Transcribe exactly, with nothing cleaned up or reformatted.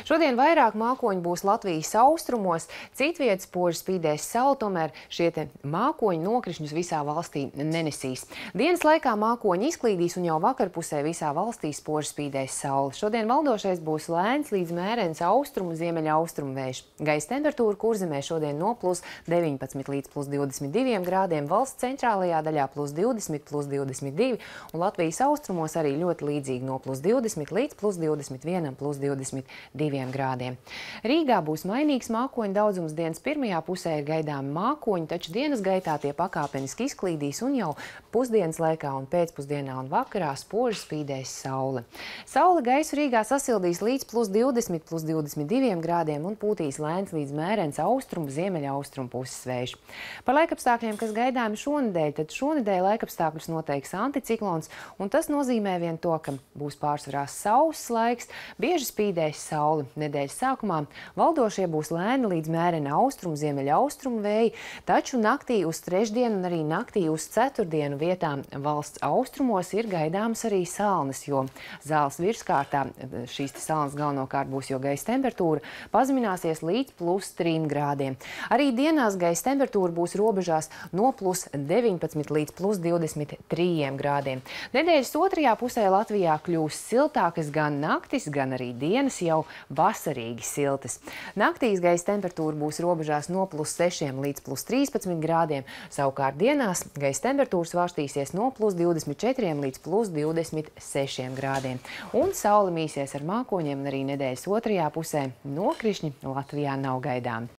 Šodien vairāk mākoņu būs Latvijas austrumos, citvietas spoži spīdēs saule, tomēr šie te mākoņi nokrišņus visā valstī nenesīs. Dienas laikā mākoņi izklīdīs un jau vakarpusē visā valstī spoži spīdēs saule. Šodien valdošais būs lēns līdz mērens austrumu, ziemeļa austrumu vējš. Gaisa temperatūra Kurzemē šodien no plus deviņpadsmit līdz plus divdesmit diviem grādiem, valsts centrālajā daļā plus divdesmit, plus divdesmit divi un Latvijas austrumos arī ļoti līdzīgi no plus divdesmit līdz plus divdesmit vienam, plus divdesmit diviem grādiem. Rīgā būs mainīgs mākoņu daudzums, dienas pirmajā pusē ir gaidāmi mākoņi, taču dienas gaitā tie pakāpeniski izklīdīs un jau pusdienas laikā un pēcpusdienā un vakarā spoži spīdēs saule. Saule gaisu Rīgā sasildīs līdz plus divdesmit, plus divdesmit diviem grādiem un pūtīs lēns līdz mērens austrumu, ziemeļa austrumu puses vējš. Par laikapstākļiem, kas gaidāmi šonedēļ, tad šonedēļ laikapstākļus noteiks anticiklons, un tas nozīmē vien to, ka būs pārsvarā sauss laiks, bieži spīdēs saule. Nedēļas sākumā valdošie būs lēni līdz mērena austrumu, ziemeļa austrumu vēji, taču naktī uz trešdienu un arī naktī uz ceturtdienu vietām valsts austrumos ir gaidāmas arī salnas, jo zāles virskārtā šīs salnas galvenokārt būs, jo gaisa temperatūra pazemināsies līdz plus trim grādiem. Arī dienās gaisa temperatūra būs robežās no plus deviņpadsmit līdz plus divdesmit trījiem grādiem. Nedēļas otrajā pusē Latvijā kļūs siltākas gan naktis, gan arī dienas jau vasarīgi siltas. Naktīs gaisa temperatūra būs robežās no plus sešiem līdz plus trīspadsmit grādiem, savukārt dienās gaisa temperatūra svārstīsies no plus divdesmit četriem līdz plus divdesmit sešiem grādiem. Un saule mīsies ar mākoņiem, un arī nedēļas otrajā pusē nokrišņi Latvijā nav gaidāmi.